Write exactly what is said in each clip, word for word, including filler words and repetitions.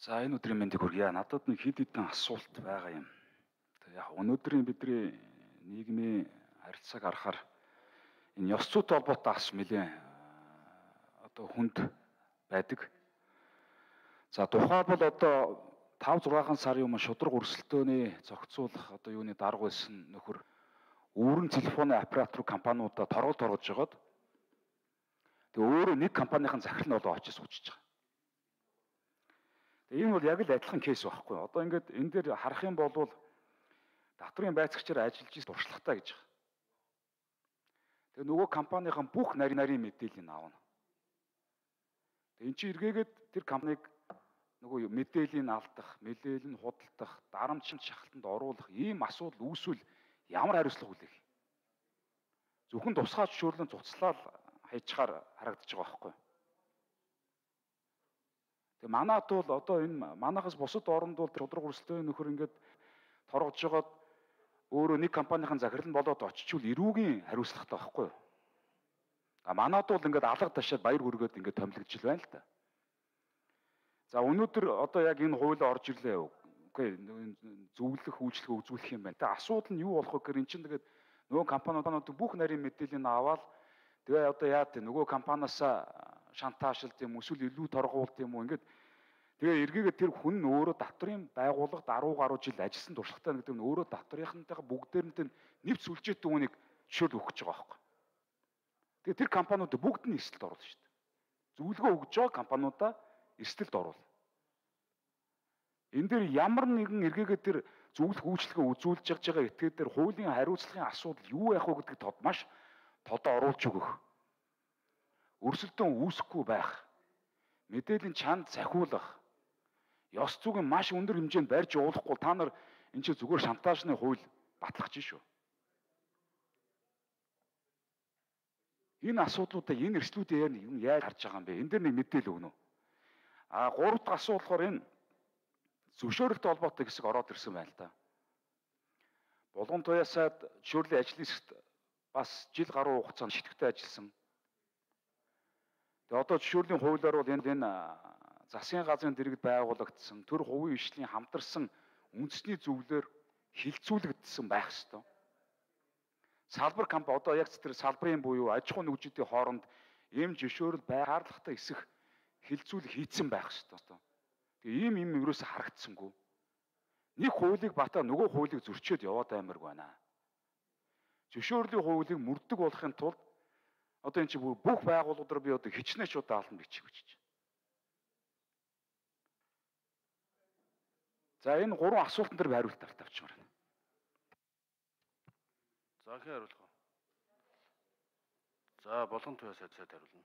За энэ өдрийн мэндийг хүргье. Надад нэг хэд хэдэн асуулт байгаа юм. Тэгээ яг өнөөдрийн бидний нийгмийн харилцааг харахаар энэ ёс зүйтэй холбоотой ас нэлээд одоо хүнд байдаг. За тухай бол одоо тав зургаан сарын өмнө шудраг өрсөлдөөний зохицуулах одоо юуны дарга байсан нөхөр өөрийн телефоны оператор компаниудаа торгол торгож жагаад тэгээ өөрөө нэг компанийн захирал нь болоо очиж суучих байгаа. Тэгээ энэ бол яг л адилхан кейс байхгүй. Одоо ингээд энэ дээр харах юм бол татврын байцаагчаар ажиллаж ирсэн туршлагатай гэж байгаа. Тэгээ нөгөө компанийн бүх нарийн нарийн мэдээллийг аавна. Тэгээ эн чинь эргээгээд тэр компаниг нөгөө мэдээллийг алдах, мэдээлэл нь худалдах, дарамтчин шахалтанд оруулах ийм асуудал үүсвэл ямар хариуцлага хүлээх? Зөвхөн тусгай зөвшөөрлөн цуцлал хайчаар харагдаж байгаа байхгүй. Тэгээ манайд бол одоо энэ манайхаас бусад оронд бол шудраг өрсөлдөөний нөхөр ингээд торгож жагаад өөрөө нэг компанийн захирал нь болоод очичвол эрүүгийн хариуцлагатай байхгүй юу? А манайд бол ингээд алга ташаад баяр хүргээд ингээд томилогдож байна л да. За өнөөдөр одоо яг энэ хууль орж ирлээ. Үгүй зөвлөх үйлчлэг үзүүлэх юм байна. Тэгээ асуудал нь юу болох вэ гэхээр эн чинь тэгээд нөгөө компаниуд бүх нарийн мэдээллийг аваад тэгээ одоо яа гэдэг нөгөө компаниасаа шантаашилт юм эсвэл илүү торгуулт юм уу ингээд тэгээ эргээгээ тэр хүн нь өөрөө татврын байгууллагад арван гаруй жил ажилласан туршлагатай гэдэг нь өөрөө татврынхантайгаа бүгдээрнтэй нэвт сүлжээтэй үнийг жишээл өгч байгаа байхгүй. Тэгээ тэр компаниуд бүгд нь эрсдэлд оруулна шүү дээ. Зөвлөгөө өгж байгаа компаниудаа эрсдэлд оруулна. Энэ дээр ямар нэгэн эргээгээ тэр зөвлөх үйлчлэгээ үзүүлж байгаа этгээд дээр хуулийн хариуцлагын асуудал юу байх вэ гэдгийг тод маш тодоо оруулж өгөх. Өрсөлдөөн үүсэхгүй байх. Мэдээллийн чанд захиулах. Ёс зүйн маш өндөр хэмжээнд барьж уулахгүй та нар энэ чинь зүгээр шантаажны хууль батлах чинь шүү. Энэ асуудлуудаа энэ эрсдлүүдээ юу яаж харж байгаа юм бэ? Энэ дээр нэг мэдээлэл өгнө үү? А гурав дахь асуудал болохоор энэ зөвшөөрөлтөй холбоотой хэсэг ороод ирсэн байна л да. Булган туяасаад зөвшөөрлийн ажлын хэсэгт бас жил гаруй хугацаанд шитгэвтэй ажилласан. Тэгээ одоо зөвшөөрлийн хуулиар бол энэ энэ засгийн газрын дэргэд байгуулагдсан төр хувийн ишлийн хамтарсан үндэсний зөвлөөр хилцүүлэгдсэн байх ёстой. Салбар компани одоо яг тэр салбарын буюу аж ахуй нэгжүүдийн хооронд ийм зөвшөөрөл байгаарлахтай эсэх хилцүүлэг хийцэн байх ёстой. Тэгээ ийм юм ерөөсө харагдсангүй. Нэг хуулийг батаа нөгөө хуулийг зөрчөөд яваад аймаг байна. Зөвшөөрлийн хуулийг мөрдөг болохын тулд одоо энэ чинь бүх байгууллагууд би одоо хичнээн шууд даална бичих гэж чинь. За энэ гурван асуултан дээр би хариулт тавьчихмаар байна. За хэн хариулах вэ? За болгон туяа сайд сайд хариулна.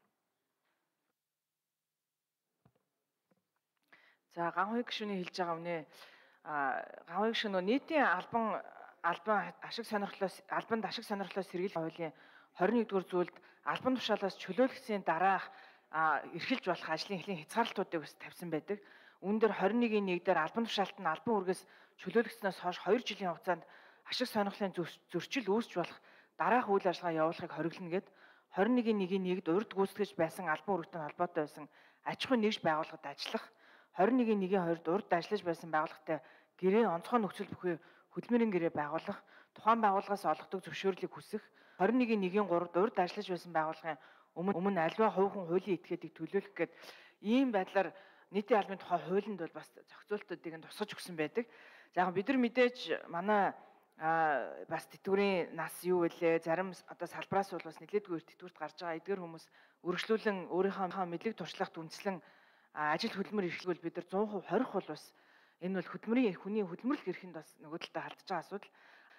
За ганхны гишүүний хэлж байгаа үнэ а ганхны гишүүн нийтийн албан албан ашиг сонирхлоос албанд ашиг сонирхлоос сэргийлэх хуулийн двадцать нэгдүгээр зүйлд албан тушаалаас чөлөөлөгчийн дараах эрхэлж болох ажлын эхлэн хязгаарлалтуудыг бас тавьсан байдаг. Үүн дээр двадцать нэгний нэг дээр албан тушаалт нь албан үргээс чөлөөлөгчнөөс хойш хоёр жилийн хугацаанд ашиг сонирхлын зөрчил үүсч болох дараах үйл ажиллагаа явуулахыг хориглоно гэд двадцать нэгний нэгний нэгд урьд гүйцэтгэж байсан албан үүрэгтэй холбоотой байсан аж ахуйн нэгж байгууллагад ажиллах двадцать нэгний нэгний хоёрд урьд ажиллаж байсан байгууллагатай гэрээ онцгой нөхцөл бүхий хөдөлмөрийн гэрээ байгуулах, тухайн байгууллагаас олгодог зөвшөөрлийг хүсэх, двадцать нэгний нэгний гуравд урьд ажиллаж байсан байгууллагын өмнө өмнө альва хувийн хуулийн этгээдийг төлөөлөх гээд ийм байдлаар нийтийн албаны тухай хуулинд бол бас зохицуултуудыг нь тусгаж өгсөн байдаг. За яг бид нар мэдээж манай бас тэтгэврийн нас юу вэ? Зарим одоо салбараас бол бас нэлээдгүй тэтгэврт гарч байгаа эдгээр хүмүүс үргэлжлүүлэн өөрийнхөө мэдлэг туршлагт үндэслэн ажил хөдөлмөр эрхлүүл бид нар cent percent хорих бол бас энэ бол хөдөлмөрийн хүний хөдөлмөрлөх эрхэнд бас нөгөө талдаа хaldж байгаа асуудал.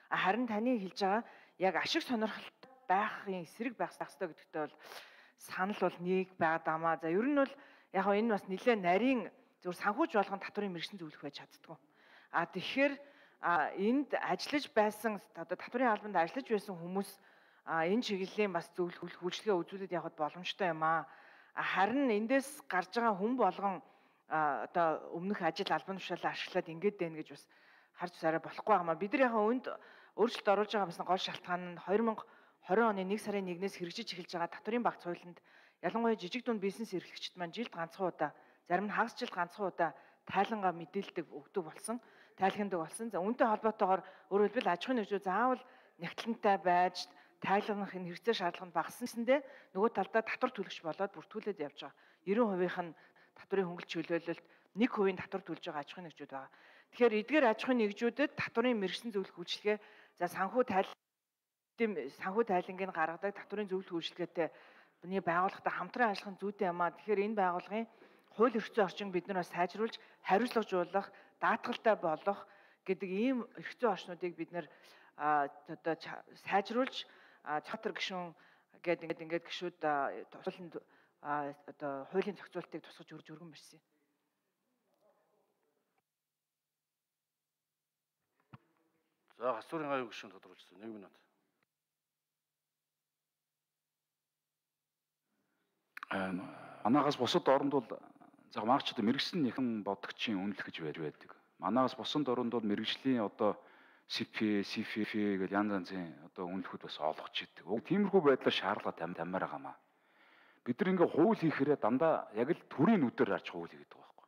Харин таны хэлж байгаа яг ашиг сонирхолт байхын эсрэг байх хэрэгтэй гэдэгтээ бол санал бол нэг байгаад амаа. За ер нь бол яг энэ бас нэлээд нарийн зөв санхүүж болгон татврын мэргэжлийн зөвлөх байж чаддгүй. А тэгэхээр энд ажиллаж байсан одоо татврын албанд ажиллаж байсан хүмүүс энэ чиглэлийн бас зөвлөх үйлчлэгээ үзүүлээд явах боломжтой юм аа. Харин эндээс гарч байгаа хүн болгон одоо өмнөх ажил албан тушаалаа ашиглаад ингээд байна гэж бас харж сараа болохгүй юм аа. Бид нар яг өнд өөрчлөлт оруулж байгаа бас гол шалтгаан нь двадцать тwenty оны нэг сарын нэгнээс хэрэгжиж эхэлж байгаа татврын багц хуулинд ялангуяа жижиг дунд бизнес эрхлэгчид маань жилд ганцхан удаа, зарим нь хагас жил ганцхан удаа тайлангаа мэдээлдэг өгдөг болсон, тайлхиндаг болсон. За үүнтэй холбоотойгоор өөрөөр хэлбэл аж ахуйн нэгжүүд заавал нягтлантай байж тайлгнах энэ хэрэгцээ шаардлага нь багассан гэсэндээ нөгөө талдаа татвар төлөгч болоод бүртгүүлээд явж байгаа. девяносто хувийн нь татврын хөнгөлөлт чиглүүлэлт, нэг хувийн татвар төлж байгаа аж ахуйн нэгжүүд байгаа. Тэгэхээр эдгээр аж ахуйн нэгжүүдэд татврын мэргэжлийн зөвлөх үйлчилгээ за санхүү тайл санхүү тайлангийг гаргадаг татврын зөвлөх үйлчилгээтэй бидний байгууллагатай хамтран ажиллах нь зүйтэй юм аа. Тэгэхээр энэ байгууллагын хууль эрхцээ орчинг бид нар бас сайжруулж, хариуцлагажуулах, даатгалтай болгох гэдэг ийм эрхцээ орчнуудыг бид нар одоо сайжруулж чатар гишүүн гэдэг ингээд гишүүд тусалнд одоо хуулийн зохицуултыг тусгаж өрж өргөн барьсан. За гасуурын аюул гишүүн тодорхойлсон нэг минут. Манаагаас бусад оронд бол за марч одоо мэрэгсэн нэхэн бодгчийн үнэлэх гэж байж байдаг. Манаагаас бусад оронд бол мэрэгжлийн одоо си пи, си эф эф гэдэг янз янзын одоо үнэлэхүүд бас олгож идэг. Уг тиймэрхүү байдлаар шаардлага тамир байгаамаа. Бид нар ингээ хууль хийхээрээ дандаа яг л төрийн нүдээр харж хууль хийдэг байхгүй.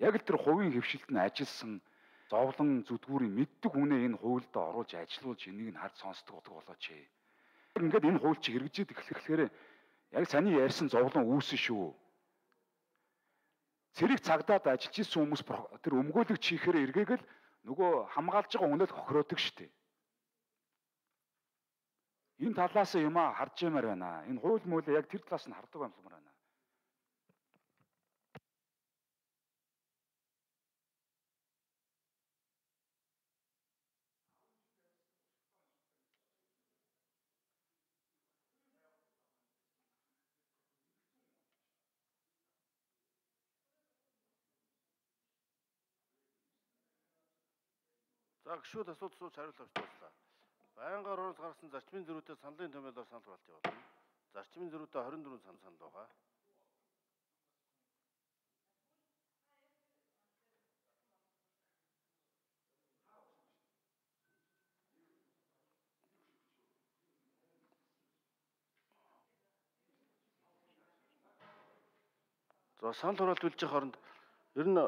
Яг л тэр хувийн хөвшилт нь ажилсан зовлон зүдгүүрийн мэддэг хүнээ энэ хуульд оруулж ажилуулж энийг нь харж сонсдог болооч. Ингээд энэ хууль чи хэрэгжээд эхлэхээр яг саний ярьсан зовлон үүсэн шүү. Цэрэг цагдаад ажиллаж исэн хүмүүс тэр өмгөөлөгч хийхээр эргээгээл нөгөө хамгаалж байгаа хүнэл хохироодог штеп. Энэ талаас юм а харж ямаар байна. Энэ хууль муулаа яг тэр талаас нь хардаг юмсмаар байна. За гişүүд асуулт сууж хариулт авч дуслаа. Байнгаар оролцож гаргасан зарчмын зөрүүтэй саналын томьёолоор санал хураалт явуулна. Зарчмын зөрүүтэй хорин дөрвөн санал санал байгаа. За санал хураалт үлжих хооронд ер нь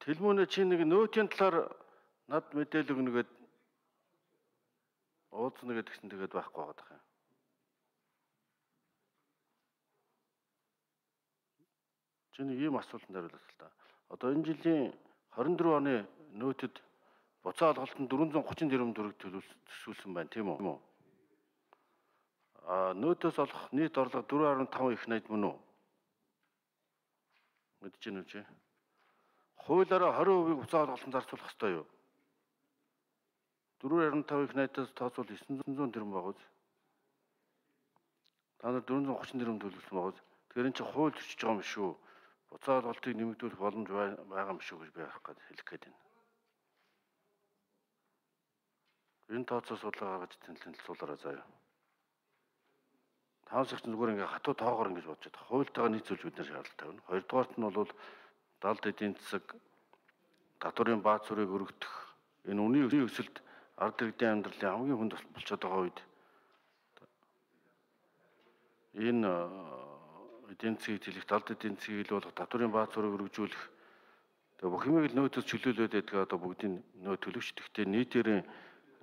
Тэлмүүнэ чи нэг нөөтийн талаар над мэдээлэл өгнөгээд уулзна гэдгсэн тэгээд байхгүй байгаа юм. Чи нэг ийм асуултанд хариулах л та. Одоо энэ жилийн хорин дөрвөн оны нөөтөд буцаа олголтод дөрвөн зуун гучин тэрбум төгрөг төлөвлөсөн байна, тийм үү? А нөөтөөс олох нийт орлого дөрвөн гаруй таван их найд мөн үү? Мэдэж байна уу чи? Хуулиараа хорин хувийг буцаа олголтод зарцуулах ёстой юу? дөрвөн гаруй таван их найдаас тооцвол девятьсот тэрбум байгаа үз. Та нар дөрвөн зуун гучин тэрбум төлөвлөсөн байгаа үз. Тэгэхээр энэ чинь хууль зөрчиж байгаа юм шүү. Буцаа олголтыг нэмэгдүүлэх боломж байгаа юм шүү гэж би хэлэх гээд байна. Энэ тооцоо судлаа гаргаж танилцуулаарай заяа. Таавсагч зүгээр ингээ хатуу тоогоор ингэж бодож байгаа. Хуультайгаа нийцүүлж бид нар шаардлага тавина. Хоёрдугаарт нь бол далд эдийн засаг, татварын бааз зүрийг өргөдөх, энэ үнийн өсөлт ард иргэдийн амьдралын хамгийн хүнд болчиход байгаа үед энэ эдийн засгийг тэлэх, далд эдийн засгийг ил болгох, татварын бааз зүрийг өргөжүүлэх тэгээ бүх юмыг л нөөтөс чөлөөлөөд байдаг одоо бүгдийн нөө төлөвч гэхдээ нийтээрээ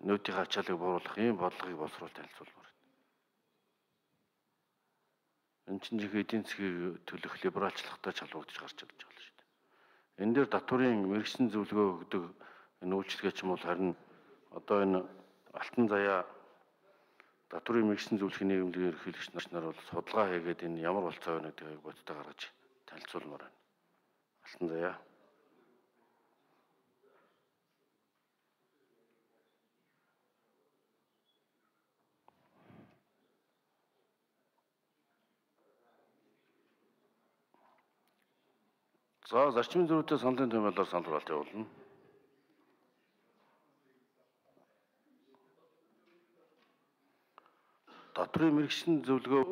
нөөтийн ачаалыг бууруулах ийм бодлогыг боловсруулалт танилцуулмаар байна. Энэ чинь жих эдийн засгийг төлөх либералчлахтай чалбагдж гарч ирж байгаа шүү дээ. Энэ дээр татварын мэргэжлийн зөвлөгөө өгдөг энэ үйлчлэгээ ч юм бол харин одоо энэ алтан заяа татварын мэргэжлийн зөвлөхийн нийгэмлэгийн ерөнхийлөгч нар бол судалгаа хийгээд энэ ямар болцоо байна гэдгийг бодтой гаргаж танилцуулмаар байна. Алтан заяа. За зарчмын зөрүүтэй саналын томьёолоор санал хураалт явуулна. Татварын мэргэжлийн зөвлөгөө